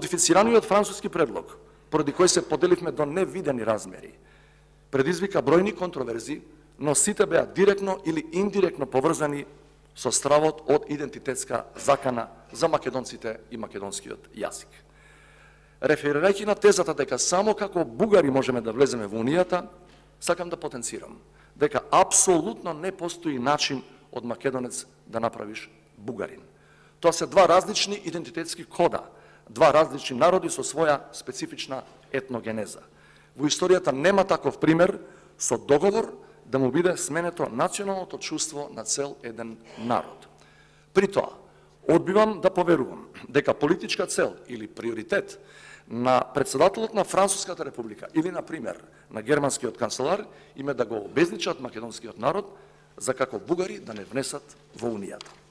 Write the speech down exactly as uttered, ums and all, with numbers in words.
Модифицираниот француски предлог, поради кој се поделивме до невидени размери, предизвика бројни контроверзи, но сите беа директно или индиректно поврзани со стравот од идентитетска закана за македонците и македонскиот јазик. Реферирајќи на тезата дека само како бугари можеме да влеземе во Унијата, сакам да потенцирам дека апсолутно не постои начин од македонец да направиш бугарин. Тоа се два различни идентитетски кода, два различни народи со своја специфична етногенеза. Во историјата нема таков пример со договор да му биде сменето националното чувство на цел еден народ. При тоа, одбивам да поверувам дека политичка цел или приоритет на председателот на Француската република или, на пример, на германскиот канцелар им е да го обезличат македонскиот народ за како бугари да не внесат во Унијата.